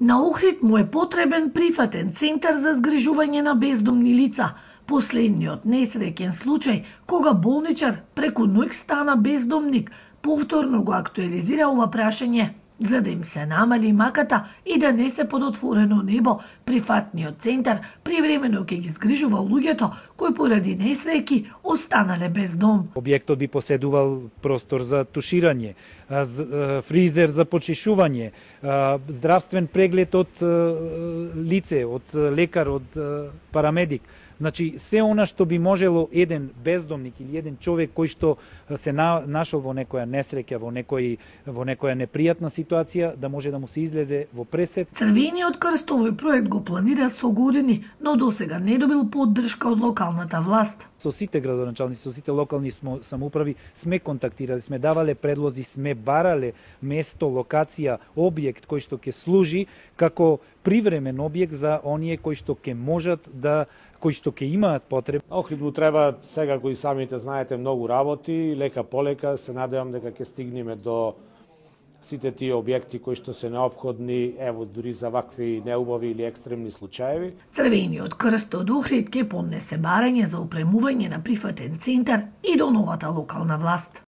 На Охрид му е потребен прифатен центар за згрижување на бездомни лица. Последниот несреќен случај, кога болничар преку ноќ стана бездомник, повторно го актуализира ова прашање, за да им се намали маката и да не се под отворено небо. Прифатниот центар привремено ќе ги згрижува луѓето кои поради несреќи останале без дом. Објектот би поседувал простор за туширање, фризер за почишување, здравствен преглед од лице, од лекар, од парамедик. Значи, се она што би можело еден бездомник или еден човек кој што се нашол во некоја несреќа, во некоја непријатна ситуација, да може да му се излезе во пресет. Црвениот крст овој проект го планира со години, но досега не добил поддршка од локалната власт. Со сите градоначалници, со сите локални самоуправи сме контактирали, сме давале предлози, сме барале место, локација, објект кој што ќе служи како привремен објект за оние кои што ќе можат кои што ќе имаат потреба. Охрид му треба сега, кои самите знаете, многу работи, лека полека се надевам дека ќе стигнеме до сите тие објекти кои што се неопходни, ево дури за вакви неубави или екстремни случаеви. Црвениот крст од Охрид ќе поднесе барање за опремување на прифатен центар и до новата локална власт.